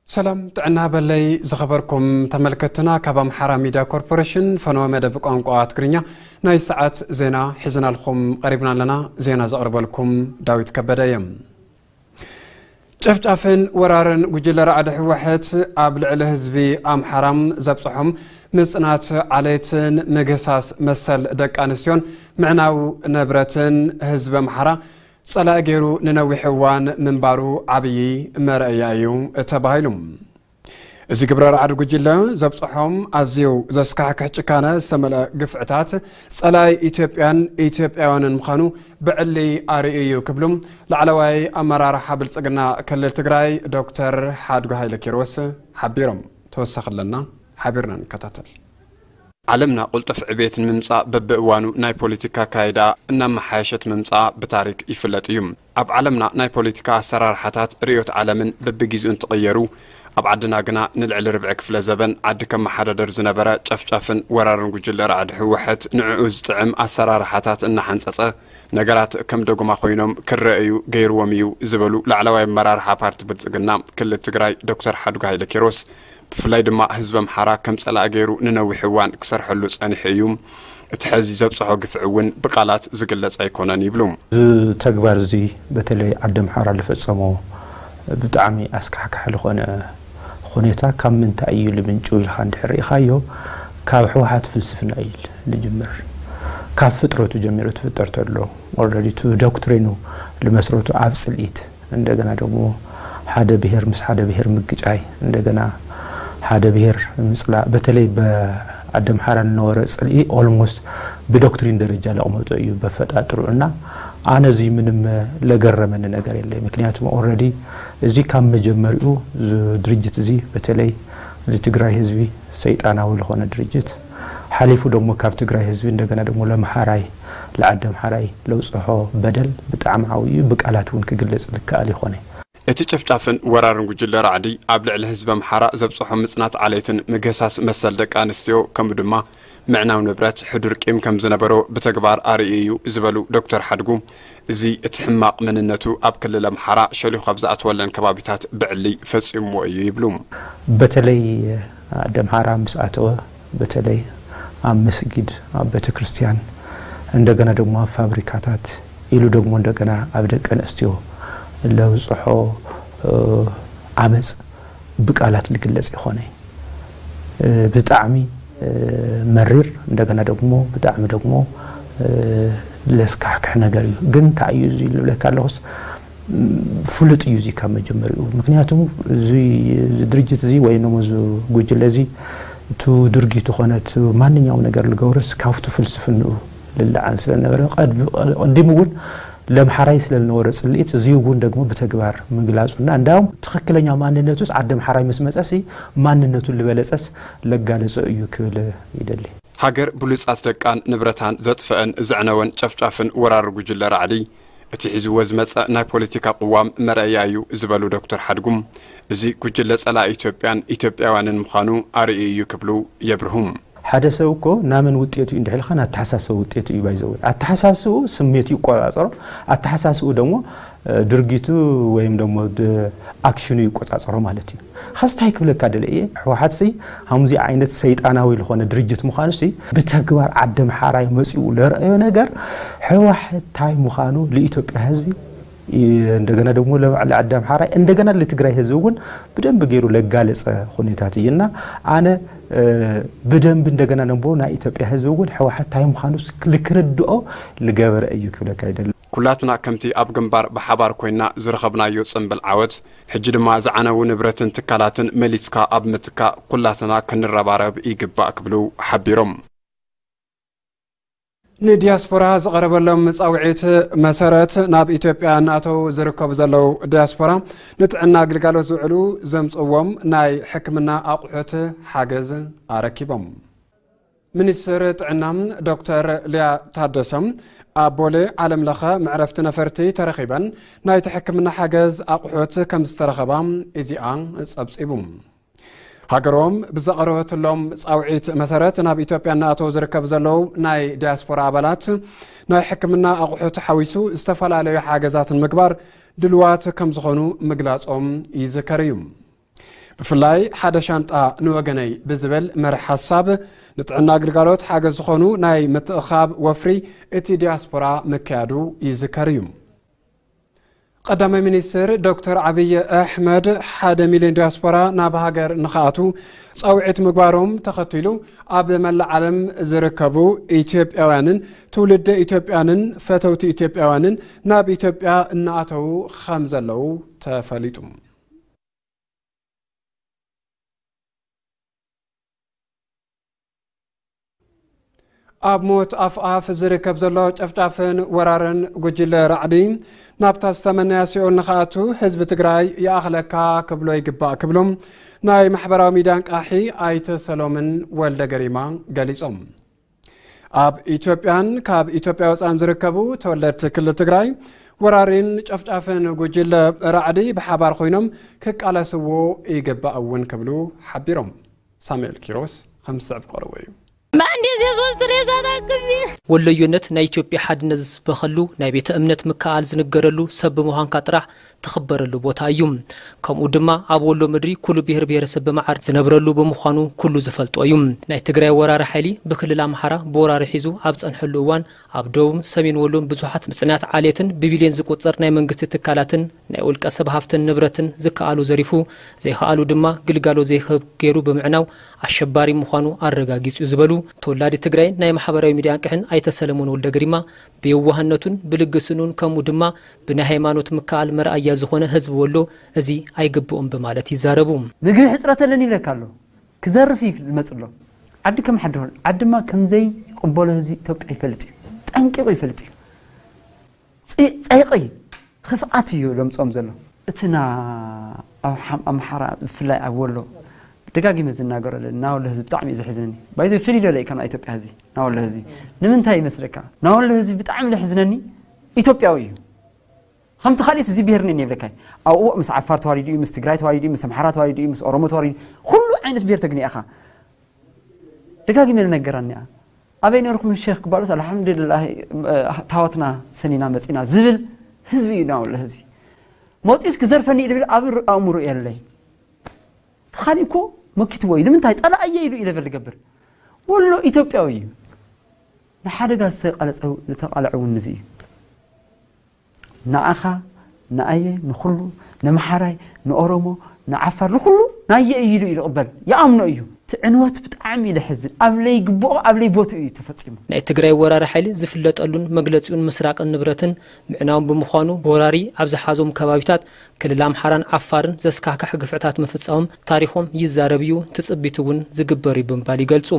ሰላም ጥዕና በለይ ዝኸበርኩም ተመልከትና፣ ካብ ኣምሓራ ሚድያ ኮርፖሬሽን ፈነወ መደብ ቋንቋ ትግርኛ ናይ ሰዓት ዜና ሒዝናልኩም ቀሪብና ኣለና። ዜና ዘቕርበልኩም ዳዊት ከበደ እየ። ጨፍጫፍን ወራርን ጉጅለ ራዕዲ ህወሓት ኣብ ልዕሊ ህዝቢ ኣምሓራ ዘብፅሖም ምፅናት ዓሌትን ምግህሳስ መሰል ደቂ ኣንስትዮን ምዕናው ንብረትን ህዝቢ ኣምሓራ ፀላኢ ገይሩ ንነዊሕ እዋን ምንባሩ ዓብዪ መርኣያ እዩ ተባሂሉ። እዚ ግብረ ራዕዲ ጉጅለ ዘብፅሖም ኣዝዩ ዘስካሕክሕ ጭካነ ዝተመልአ ግፍዕታት ፀላኢ ኢትዮጵያን ኢትዮጵያውያንን ምዃኑ ብዕሊ ኣርእዩ እዩ ክብሉ ላዕለዋይ ኣመራርሓ ብልፅግና ክልል ትግራይ ዶክተር ሓድጉ ሃይለ ኪሮስ ሓቢሮም። ተወሳኺ ኣለና፣ ሓቢርና ንከታተል። ዓለምና ቅልጡፍ ዕቤት ንምምጻእ በብእዋኑ ናይ ፖለቲካ ኣካይዳ እናመሓየሸት ምምጻኣ ብታሪክ ይፍለጥ እዩ። ኣብ ዓለምና ናይ ፖለቲካ ኣሰራርሓታት ርእዮት ዓለምን በብጊዜኡ እንትቕየሩ፣ ኣብ ዓድና ግና ንልዕሊ ርብዒ ክፍለ ዘበን ዓዲ ከመሓዳደር ዝነበረ ጨፍጫፍን ወራርን ጉጅለ ራዕዲ ህወሓት ንዕኡ ዝጥዕም ኣሰራርሓታት እናሓንጸጸ፣ ነገራት ከም ደጉማ ኮይኖም ክረኣዩ ገይርዎም እዩ ዝበሉ ላዕለዋይ ኣመራርሓ ፓርቲ ብልጽግና ክልል ትግራይ ዶክተር ሓድጉ ሃይለ ኪሮስ፣ ብፍላይ ድማ ህዝቢ ኣምሓራ ከም ጸላኢ ገይሩ ንነዊሕ እዋን ክሰርሐሉ ጸኒሑ እዩ። እቲ ሕዚ ዘብጽሖ ግፍዒ እውን ብቃላት ዝግለጽ ኣይኮነን ይብሉ። እዚ ተግባር እዚ በተለይ ዓዲ ኣምሓራ ዝፈጸሞ ብጣዕሚ ኣስካሕካሒ ዝኾነ ሁኔታ ካብ ምንታይ እዩ ልምንጩ ኢልካ እንድሕር ርኢኻዮ፣ ካብ ህወሓት ፍልስፍና እዩ ልጅምር። ካብ ፍጥረቱ ጀሚሩ ትፍጠር ተሎ፣ ኦልሬዲ እቲ ዶክትሪኑ ልመስረቱ ኣብ ጽልኢት፣ እንደገና ደግሞ ሓደ ብሔር ምስ ሓደ ብሔር ምግጫይ፣ እንደገና ሓደ ብሔር ምጽላእ፣ በተለይ በዓዲ ኣምሓራ ዝነበረ ጽልኢ ኦልሞስት ብዶክትሪን ደረጃ ለቕመጦ እዩ በፈጣጥሩ። እና ኣነ እዚ ምንም ለገረመኒ ነገር የለይ። ምክንያቱም ኦልሬዲ እዚ ካብ መጀመሪኡ እዚ ድርጅት እዚ በተለይ ንትግራይ ህዝቢ ሰይጣናዊ ዝኾነ ድርጅት ሓሊፉ ደግሞ ካብ ትግራይ ህዝቢ እንደገና ደግሞ ለምሓራይ ለዓዲ ኣምሓራይ ለውፅሖ በደል ብጣዕሚ ዓብዩ እዩ። ብቃላት እውን ክግለጽ ልከኣል ይኾነ። እቲ ጨፍጫፍን ወራርን ጉጅለ ራዕዲ ኣብ ልዕሊ ህዝቢ ኣምሓራ ዘብፅሖ ምፅናት ዓሌትን ምግህሳስ መሰል ደቂ ኣንስትዮ ከምኡ ድማ ምዕናው ንብረት ሕዱር ቂም ከም ዝነበሮ ብተግባር ኣርእዩ እዩ ዝበሉ ዶክተር ሓድጉ፣ እዚ እቲ ሕማቕ መንነቱ ኣብ ክልል ኣምሓራ ሸሊኹ ኣብ ዝኣተወለን ከባቢታት ብዕሊ ፈጺምዎ እዩ ይብሉ። በተለይ ዓዲ ኣምሓራ ምስ ኣተወ፣ በተለይ ኣብ መስጊድ፣ ኣብ ቤተክርስትያን፣ እንደገና ደግሞ ኣብ ፋብሪካታት ኢሉ ደግሞ እንደገና ኣብ ደቂ ኣንስትዮ ለብፅሖ ዓመፅ ብቃላት ልግለጽ ይኾነ። ብጣዕሚ መሪር፣ እንደገና ደግሞ ብጣዕሚ ደግሞ ለስካሕክሕ ነገር እዩ። ግን እንታይ እዩ እዚ ልብለካ ኣለኹስ፣ ፍሉጥ እዩ እዚ ካብ መጀመሪኡ። ምክንያቱ እዚ ድርጅት እዚ ወይ ነሞ እዚ ጉጅለ እዚ እቲ ድርጊቱ ኮነ እቲ ማንኛውም ነገር ልገብርስ ካብቲ ፍልስፍንኡ ልለዓል ስለነበረ፣ ቀድ-፣ ቀዲሙ እውን ለምሓራይ ስለልነበረ ጽልኢት፣ እዚ እውን ደግሞ ብተግባር ምግላጹና፣ እንዳውም ትኽክለኛ ማንነቱስ ዓዲ ምሓራይ ምስ መጸሲ ማንነቱ ልበለጸስ ለጋለጸ እዩ ክብል ይደሊ። ሃገር ብሉጻት ደቃን ንብረታን ዘጥፈአን ዘዕነወን ጨፍጫፍን ወራር ጉጅለ ራዕዲ፣ እቲ ሒዝዎ ዝመጸ ናይ ፖለቲካ ቅዋም መረኣያ እዩ ዝበሉ ዶክተር ሓድጉም፣ እዚ ጉጅለ ጸላኢ ኢትዮጵያን ኢትዮጵያውያንን ምዃኑ ኣርእዩ እዩ ክብሉ የብርሁ። ሓደ ሰብ እኮ ናመን ውጤቱ እዩ እንድሕልካ ናተሓሳሰቡ ውጤቱ እዩ ባይዘው። ኣተሓሳስቡ ስሜቱ ይቆጻጸሮ፣ ኣተሓሳስቡ ደግሞ ድርጊቱ ወይም ደግሞ ድ-፣ ኣክሽኑ ይቆጻጸሮ ማለት እዩ። ኸስታይ ክብለካ ደለ እየ፣ ህወሓት ሲ ሃምዚ ዓይነት ሰይጣናዊ ዝኾነ ድርጅት ምዃኑ ሲ ብተግባር ዓዲ ምሓራይ መጺኡ ለረአዮ ነገር ህወሓት ታይ ምዃኑ ለኢትዮጵያ ህዝቢ፣ እንደገና ደግሞ ለባዕሊ ዓዲ ኣምሓራይ፣ እንደገና ለትግራይ ህዝቢ እውን ብደንብ ገይሩ ለጋለጸ ሁኔታት እዩ። እና ኣነ፣ እ፣ ብደንብ እንደገና ነቦ ናይ ኢትዮጵያ ህዝቢ እውን ህወሓት ታይ ምዃኑ ስ-፣ ልክርድኦ ልገበረ እዩ ክብለካ ይደሊ። ኩላትና ከምቲ ኣብ ግንባር ብሓባር ኮይና ዝረኸብናዮ ጽምብል ዓወት፣ ሕጂ ድማ ዝዓነዉ ንብረትን ትካላትን መሊስካ ኣብ ምትካእ ኩላትና ክንረባረብ ይግባእ ክብሉ ሓቢሮም። ንዲያስፖራ ዝቐረበሎም ጻውዒት መሰረት ናብ ኢትዮጵያ እናኣተዉ ዝርከቡ ዘለዉ ዲያስፖራ ንጥዕና ግልጋሎት ዝውዕሉ ዘምጽእዎም ናይ ሕክምና ኣቑሑት ሓገዝ ኣረኪቦም። ሚኒስትር ጥዕና ዶክተር ሊያ ታደሰ ኣብ ቦሌ ዓለም ለኸ መዕረፍቲ ነፈርቲ ተረኺበን ናይቲ ሕክምና ሓገዝ ኣቑሑት ከም ዝተረኸባ ኢዜኣ ጸብጺቡ። ሃገሮም ብዘቐረበትሎም ጻውዒት መሰረት ናብ ኢትዮጵያ እናኣተው ዝርከብ ዘለዉ ናይ ዲያስፖራ ኣባላት ናይ ሕክምና ኣቑሑት ሓዊሱ ዝተፈላለዩ ሓገዛትን ምግባር ድልዋት ከም ዝኾኑ ምግላጾም ይዝከር እዩ። ብፍላይ ሓደ ሻንጣ ንወገነይ ብዝብል መርሕ ሓሳብ ንጥዕና ግልጋሎት ሓገዝ ዝኾኑ ናይ ምትእኻብ ወፍሪ እቲ ዲያስፖራ ምክያዱ ይዝከር እዩ። ቀዳማይ ሚኒስትር ዶክተር ዓብይ ኣሕመድ ሓደ ሚልዮን ዲያስፖራ ናብ ሃገር ንኽኣቱ ጻውዒት ምግባሮም ተኸቲሉ ኣብ መላእ ዓለም ዝርከቡ ኢትዮጵያውያንን ትውልደ ኢትዮጵያንን ፈተውቲ ኢትዮጵያውያንን ናብ ኢትዮጵያ እናኣተዉ ከም ዘለዉ ተፈሊጡ። ኣብ ሞት ኣፍኣፍ ዝርከብ ዘሎ ጨፍጫፍን ወራርን ጉጅለ ራዕዲ ናብታ ዝተመነያ ሲኦል ንኽኣቱ ህዝቢ ትግራይ ይኣኽለካ ክብሎ ይግባእ ክብሉ ናይ ማሕበራዊ ሚድያ ኣንቃሒ ኣይተ ሰሎምን ወልደ ገሪማ ገሊጾም። ኣብ ኢትዮጵያን ካብ ኢትዮጵያ ወፃን ዝርከቡ ተወለድቲ ክልል ትግራይ ወራሪን ጨፍጫፍን ጉጅለ ራዕዲ ብሓባር ኮይኖም ክቃለስዎ ይግባእ እውን ክብሉ ሓቢሮም። ሳሙኤል ኪሮስ ከም ዝስዕብ ቀረቦ እዩ። በአንድ ጊዜ ሶስት ሬሳ ታክሜ። ወሎዮነት ናይ ኢትዮጵያ ሓድነት ዝስበኸሉ፣ ናይ ቤተ እምነት ምክኣል ዝንገረሉ፣ ሰብ ብምዃንካ ጥራሕ ትኽበረሉ ቦታ እዩ። ከምኡ ድማ ኣብ ወሎ ምድሪ ኩሉ ብሄር ብሄረሰብ ብመዓር ዝነብረሉ ብምዃኑ ኩሉ ዝፈልጦ እዩ። ናይ ትግራይ ወራሪ ሓይሊ ብክልል ኣምሓራ ብወራሪ ሒዙ ኣብ ጸንሐሉ እዋን ኣብ ደቡብ ሰሜን ወሎን ብዙሓት ምጽናት ዓሌትን ብቢልዮን ዝቁጸር ናይ መንግስቲ ትካላትን ናይ ውልቀ ሰብ ሃፍትን ንብረትን ዝከኣሉ ዘሪፉ ዘይከኣሉ ድማ ግልጋሎት ዘይክህብ ገይሩ ብምዕናው ኣሸባሪ ምዃኑ ኣረጋጊጹ እዩ ዝበሉ ተወላዲ ትግራይን ናይ ማሕበራዊ ሚድያ ኣንቅሕን ኣይተ ሰለሞን ወልደ ገሪማ ብየዋህነቱን ብልግስንኡን ከምኡ ድማ ብናይ ሃይማኖት ምክኣል መርኣያ ዝኾነ ህዝቢ ወሎ እዚ ኣይግብኦም ብማለት ይዛረቡ። ምግቢ ሕፅረት ኣለኒ ይብለካ ኣሎ። ክዘርፍ እዩ ዝመፅ ኣሎ። ዓዲ ከም ሓድሮ ዓድማ ከምዘይ ቅበሎ ህዝቢ ኢትዮጵያ ይፈልጥ እዩ። ጠንቂቑ ይፈልጥ እዩ። ጸይቂ ክፍኣት እዩ ለምጾም ዘሎ። እቲ ና ኣብ ሓም- ኣምሓራ ብፍላይ ኣብ ወሎ ደጋጊመ ዝናገሮ ኣለኒ። ናወሎ ህዝቢ ብጣዕሚ እዩ ዘሕዝነኒ። ባይዘ ፍልይ ዶ ኢካ ና ኢትዮጵያ ህዝቢ ናወሎ ህዝቢ ንምንታይ ይመስለካ? ናወሎ ህዝቢ ብጣዕሚ ለሕዝነኒ ኢትዮጵያዊ እዩ። ከምቲ ካልእ እዚ ብሄር ነን የብለካ። ኣብኡ ምስ ዓፋር ተዋሊዱ እዩ፣ ምስ ትግራይ ተዋሊዱ እዩ፣ ምስ ኣምሓራ ተዋሊዱ እዩ፣ ምስ ኦሮሞ ተዋሊዱ ኩሉ ዓይነት ብሄር ተግኒ ኢኻ። ደጋጊመ ንነገራኒ እያ። ኣበይ ነርኩም ሼክ ክባሉስ ኣልሓምዱሊላህ ታወትና ሰኒና መፂና ዝብል ህዝቢ እዩ ናውለ ህዝቢ። መፂስ ክዘርፈኒ እዩ ዝብል ኣብ ኣእምሮ የለይ። ተኻሊ እኮ መኪትዎ እዩ። ንምንታይ ፀላእየ ኢሉ እዩ ለበል ዝገብር። ወሎ ኢትዮጵያዊ እዩ። ንሓደጋ ዝተቃለፀ ዝተቃለዐ እውን ንዚ እዩ። ንኣኻ ንኣየ ንኹሉ ንምሓራይ ንኦሮሞ ንዓፋር ንኹሉ ናየ እዩ ኢሉ እዩ ዝቕበል ይኣምኖ እዩ። እቲ ዕንወት ብጣዕሚ እዩ ለሕዝን ኣብ ለይግብኦ ኣብ ለይቦትኡ እዩ ተፈፂሙ። ናይ ትግራይ ወራሪ ሓይሊ ዝፍለጠሉን መግለፂኡን ምስራቅን ንብረትን ምዕናውን ብምዃኑ ወራሪ ኣብ ዝሓዞም ከባቢታት ክልል ኣምሓራን ዓፋርን ዘስካሕክሕ ግፍዕታት ምፍፃሞም ታሪኾም ይዛረብ እዩ ትፅቢት እውን ዝግበር እዩ ብምባል ይገልፁ።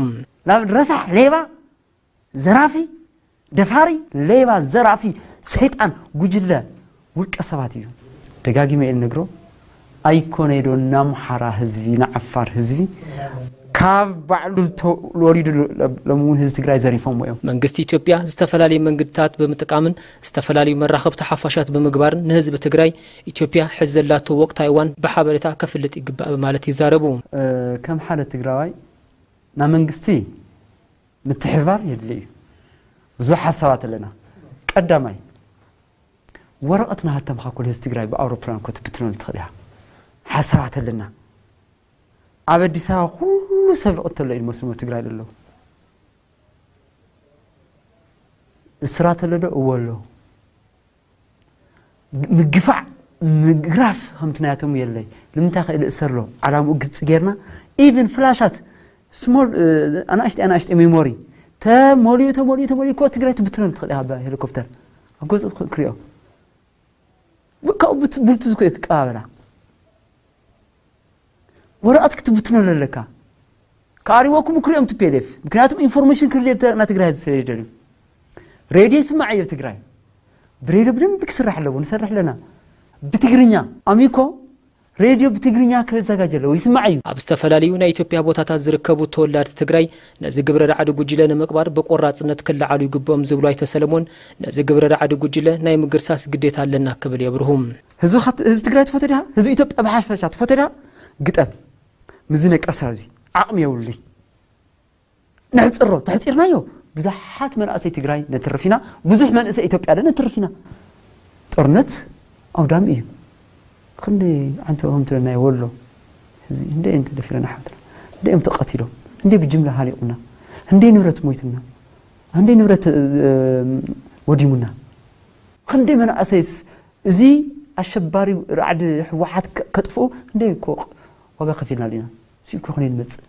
ናብ ረሳሕ ሌባ ዘራፊ ደፋሪ ሌባ ዘራፊ ሰይጣን ጉጅለ ውልቀ ሰባት እዩ። ደጋጊመ እየ ልነግሮ ኣይኮነ ዶ ናምሓራ ህዝቢ ንዓፋር ህዝቢ ካብ ባዕሉ ተወሊዱ ሎሚ እውን ህዝቢ ትግራይ ዘሪፎምዎ እዮም። መንግስቲ ኢትዮጵያ ዝተፈላለዩ መንገድታት ብምጥቃምን ዝተፈላለዩ መራኸብቲ ሓፋሻት ብምግባርን ንህዝቢ ትግራይ ኢትዮጵያ ሕዚ ዘላቶ ወቅታዊ እዋን ብሓበሬታ ከፍልጥ ይግባእ በማለት ይዛረቡ። ከም ሓደ ትግራዋይ ናብ መንግስቲ ምትሕብባር የድሊ እዩ። ብዙሕ ሓሳባት ኣለና። ቀዳማይ ወረቐት ናሃተምካ ኩሉ ህዝቢ ትግራይ ብኣውሮፕላን እኮ ትብትነሉ ትኽእል ኢኻ። ሓሳባት ኣለና። ኣብ ኣዲስ ኣበባ ኩሉ ሰብ ልቕተሎ እዩ መስሞ ትግራይ ዘለዉ። እስራት ኣሎ ዶ? እዎ ኣሎ። ምግፋዕ ምግራፍ ከምቲ ናያቶም የለይ። ንምንታይ ከ እልእሰር ኣሎ? ዓላምኡ ግልፂ ጌርና ኢቭን ፍላሻት ስሞል ኣናእሽተ ኣናእሽተ ሜሞሪ ተሞሊኡ ተሞሊኡ ተሞሊኡ እኮ ትግራይ ትብትነሉ ትኽእል ኢኻ ብሄሊኮፕተር ኣብ ገፁ ክሪኦ ካብኡ ብርቱ ዝኮ ክቀባበላ ወረቐት ክትብትነሉ ኣለካ። ከኣሪወኩም ክሪኦም ቲ ፒ ኤል ኤፍ ምክንያቱም ኢንፎርሜሽን ክርድየልና ትግራይ ዝሰደደሉ ሬድዮ ይስማዕ እዮ ትግራይ ብሬድዮ ብደንብ ክስራሕ ኣለዎ ንሰርሕ ኣለና ብትግርኛ ኣሚኮ ሬድዮ ብትግርኛ ከዘጋጀ ኣለዎ ይስማዕ እዩ። ኣብ ዝተፈላለዩ ናይ ኢትዮጵያ ቦታታት ዝርከቡ ተወላድቲ ትግራይ ነዚ ግብረ ራዕዲ ጉጅለ ንምቅባር ብቆራፅነት ክለዓሉ ይግብኦም ዝብሉ ኣይተ ሰለሞን ነዚ ግብረ ራዕዲ ጉጅለ ናይ ምግርሳስ ግዴታ ኣለና ክብል የብርሁ። ህዝቢ ትግራይ ትፈትዮ ዲኻ? ህዝቢ ኢትዮጵያ ብሓፈሻ ትፈትዮ ዲኻ? ግጠም። ምዚ ነቀርሳ እዚ ዓቕሚ የብሉይ። ንሕፅሮ ተሕፂርናዮ፣ ብዙሓት መናእሰይ ትግራይ ነትርፍ ኢና። ብዙሕ መንእሰይ ኢትዮጵያ ደ ነትርፍ ኢና። ጦርነት ኣውዳሚ እዩ። ክንደይ ዓንተኦም ትለናዮ ወሎ፣ እዚ እንደ እዮም ተደፊረና ሓትና፣ እንደ እዮም ተቐቲሎም፣ እንደ ብጅምላ ሃሊቑና፣ እንደ ንብረት ሞይትና፣ እንደ ንብረት ወዲሙና። ክንደይ መናእሰይስ እዚ ኣሸባሪ ራዕዲ ህወሓት ከጥፍኡ እንደ እኮ ዋጋ ከፊልና ኢና። ሲኮ ክንመፅእ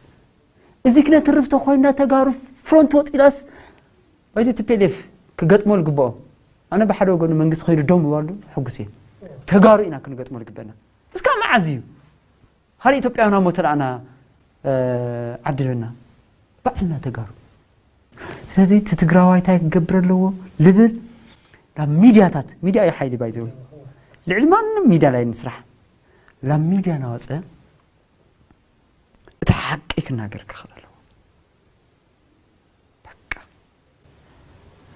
እዚ ክነትርፍ ተኮይና፣ ተጋሩ ፍሮንት ወጢላስ ባይዘ ቲ ፒ ኤል ኤፍ ክገጥሞ ዝግብኦ። ኣነ ብሓደ ወገኑ መንግስቲ ከይዱ ደው ምባሉ ሕጉስ እየ። ተጋሩ ኢና ክንገጥሞ ዝግበና። እስካ መዓዝ እዩ ካልእ ኢትዮጵያውያን ኣብ ሞተ ለኣና ዓዲ ልበና? ባዕልና ተጋሩ። ስለዚ እቲ ትግራዋይ እንታይ ክገብር ኣለዎ ልብል ናብ ሚድያታት፣ ሚድያ እዩ ሓይሊ ባይዘው ልዕሊ ማንም ሚድያ ላይ ንስራሕ። ናብ ሚድያ ናወፀ እቲ ሓቂ ክናገር ክኽእል ኣለዎ። በቃ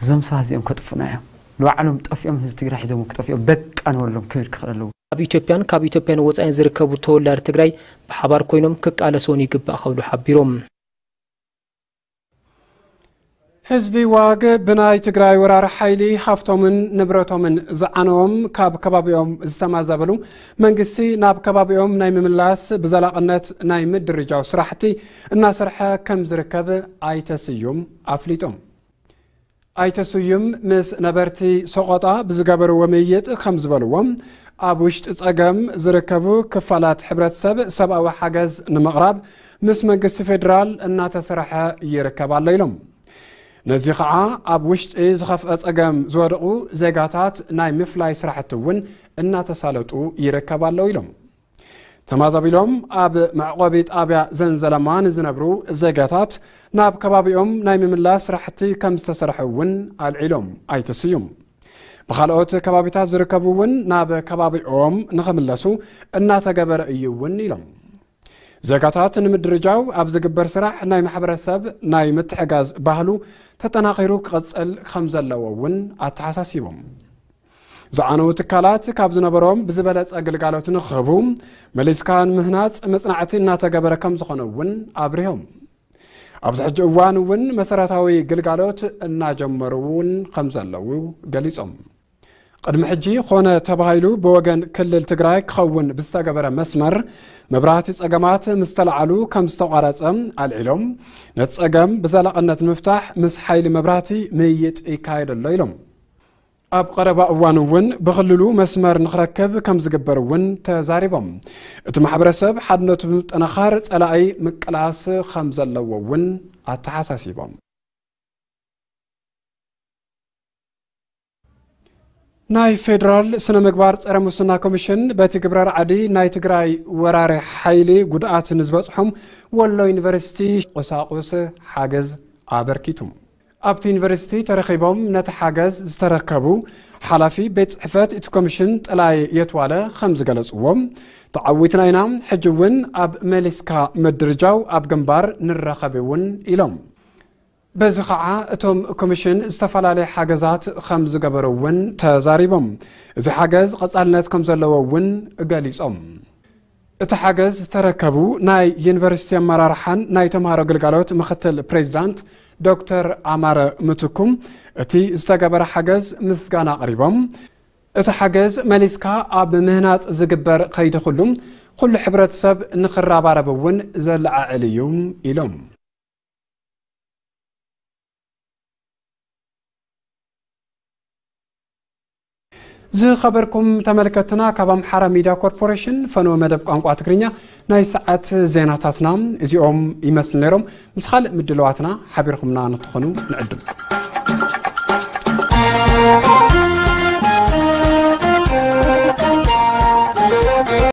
እዞም ሰባት እዚኦም ከጥፉና እዮም። ንባዕሎም ጠፊኦም ህዝቢ ትግራይ ሒዞም ክጠፍኦም በቃ ንበሎም ክብል ክኽእል ኣለዎ። ኣብ ኢትዮጵያን ካብ ኢትዮጵያን ወጻኢን ዝርከቡ ተወላዲ ትግራይ ብሓባር ኮይኖም ክቃለሱን ይግባእ ክብሉ ሓቢሮም። ህዝቢ ዋግ ብናይ ትግራይ ወራሪ ሓይሊ ሃፍቶምን ንብረቶምን ዝዓነዎም ካብ ከባቢኦም ዝተማዛበሉ መንግስቲ ናብ ከባቢኦም ናይ ምምላስ ብዘላቕነት ናይ ምድርጃው ስራሕቲ እናሰርሐ ከም ዝርከብ ኣይተ ስዩም ኣፍሊጦም። ኣይተ ስዩም ምስ ነበርቲ ሰቆጣ ብዝገበርዎ ምይይጥ ከም ዝበልዎ፣ ኣብ ውሽጢ ጸገም ዝርከቡ ክፋላት ሕብረተሰብ ሰብኣዊ ሓገዝ ንምቕራብ ምስ መንግስቲ ፌዴራል እናተሰርሐ ይርከብ ኣሎ ኢሎም። ነዚ ኸዓ ኣብ ውሽጢ ዝኸፍአ ጸገም ዝወደቑ ዜጋታት ናይ ምፍላይ ስራሕቲ እውን እናተሳለጡ ይርከብ ኣሎ ኢሎም። ተማዛቢሎም ኣብ መዕቆቢ ጣብያ ዘንዘለማ ንዝነብሩ ዜጋታት ናብ ከባቢኦም ናይ ምምላስ ስራሕቲ ከም ዝተሰርሐ እውን ኣልዒሎም ኣይተ ስዩም። ብኻልኦት ከባቢታት ዝርከቡ እውን ናብ ከባቢኦም ንኽምለሱ እናተገበረ እዩ እውን ኢሎም። ዜጋታት ንምድርጃው ኣብ ዝግበር ስራሕ ናይ ማሕበረሰብ ናይ ምትሕጋዝ ባህሉ ተጠናኺሩ ክቕፅል ከም ዘለዎ እውን ኣተሓሳሲቦም። ዝዓነዉ ትካላት ካብ ዝነበሮም ብዝበለፀ ግልጋሎት ንክህቡ መሊስካ ንምህናፅ መፅናዕቲ እናተገበረ ከም ዝኾነ እውን ኣብሪሆም። ኣብዚ ሕጂ እዋን እውን መሰረታዊ ግልጋሎት እናጀመሩ እውን ከም ዘለዉ ገሊፆም። ቅድሚ ሕጂ ኮነ ተባሂሉ ብወገን ክልል ትግራይ ክኸውን ብዝተገበረ መስመር መብራህቲ ጸገማት ምስ ተለዓሉ ከም ዝተቋረጸ ኣልዒሎም፣ ነቲ ጸገም ብዘላቕነት ንምፍታሕ ምስ ሓይሊ መብራህቲ ምይይጥ ይካየድ ኣሎ ኢሎም። ኣብ ቀረባ እዋን እውን ብክልሉ መስመር ንኽረክብ ከም ዝግበር እውን ተዛሪቦም። እቲ ማሕበረሰብ ሓድነቱ ብምጥንኻር ጸላኢ ምቅላስ ከም ዘለዎ እውን ኣተሓሳሲቦም። ናይ ፌዴራል ስነ ምግባር ጸረ ሙስና ኮሚሽን በቲ ግብረ ራዕዲ ናይ ትግራይ ወራሪ ሓይሊ ጉድኣት ንዝበጽሖም ወሎ ዩኒቨርሲቲ ቁሳቁስ ሓገዝ ኣበርኪቱ። ኣብቲ ዩኒቨርሲቲ ተረኺቦም ነቲ ሓገዝ ዝተረከቡ ሓላፊ ቤት ጽሕፈት እቲ ኮሚሽን ጥላይ የትዋለ ከም ዝገለጽዎም፣ ተዓዊትና ኢና፣ ሕጂ እውን ኣብ መሊስካ ምድርጃው ኣብ ግንባር ንራኸብ እውን ኢሎም። በዚ ኸዓ እቶም ኮሚሽን ዝተፈላለየ ሓገዛት ከም ዝገበሩ እውን ተዛሪቦም። እዚ ሓገዝ ቀጻልነት ከም ዘለዎ እውን ገሊጾም። እቲ ሓገዝ ዝተረከቡ ናይ ዩኒቨርሲቲ ኣመራርሓን ናይ ተምሃሮ ግልጋሎት ምክትል ፕሬዚዳንት ዶክተር ኣማረ ምትኩም እቲ ዝተገበረ ሓገዝ ምስጋና ኣቕሪቦም። እቲ ሓገዝ መሊስካ ኣብ ምህናፅ ዝግበር ከይዲ ኩሉ፣ ኩሉ ሕብረተሰብ ንክረባረብ እውን ዘለዓዕል እዩ ኢሎም። ዝኸበርኩም ተመልከትና፣ ካብ ኣምሓራ ሚድያ ኮርፖሬሽን ፈነወ መደብ ቋንቋ ትግርኛ ናይ ሰዓት ዜናታትና እዚኦም ይመስሉ ነይሮም። ምስ ካልእ ምድለዋትና ሓቢርኩምና ንትኾኑ ንዕድም።